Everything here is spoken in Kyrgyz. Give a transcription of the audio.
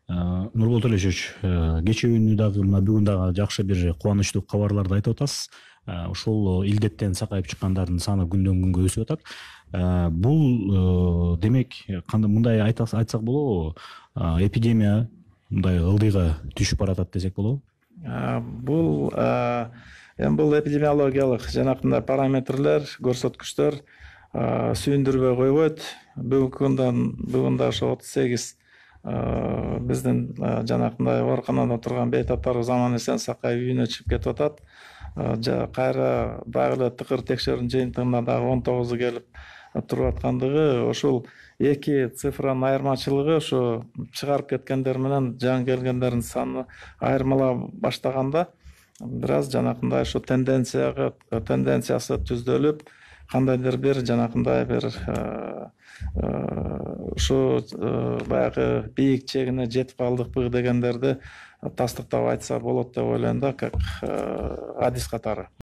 Нурболот Алишевич, кечээ дагы мына бүгүн дагы жакшы бир кубанычтуу кабарларды айтып атасыз. Ушул илдеттен сакайып чыккандардын саны күндөн күнгө өсүп атат. Бул демек мындай айтсак болобу? Эпидемия мындай ылдыйга түшүп баратат десек болобу? Бул бул эпидемиологиялык жанакындай параметрлер, көрсөткүчтөр сүйүндүрбөй койбойт. Бүгүн да ошо 38 биздин жанакындай ооруканада турган бейтаптар заман эсен сакайып үйүнө чыгып кетип атат. Кайра дагы эле тыкыр текшерүүнүн жыйынтыгында дагы 19 келип туруп аткандыгы, ошол эки цифранын айырмачылыгы ошо чыгарып кеткендер менен жаңы келгендердин саны айырмала баштаганда бир аз жанакындай ошо тенденциясы түздөлүп, кандайдыр бир жанакындай бир ушу баягы бийик чегине жетип калдыкпы дегендерди тастыктап айтса болот деп ойлойм да, как адис катары.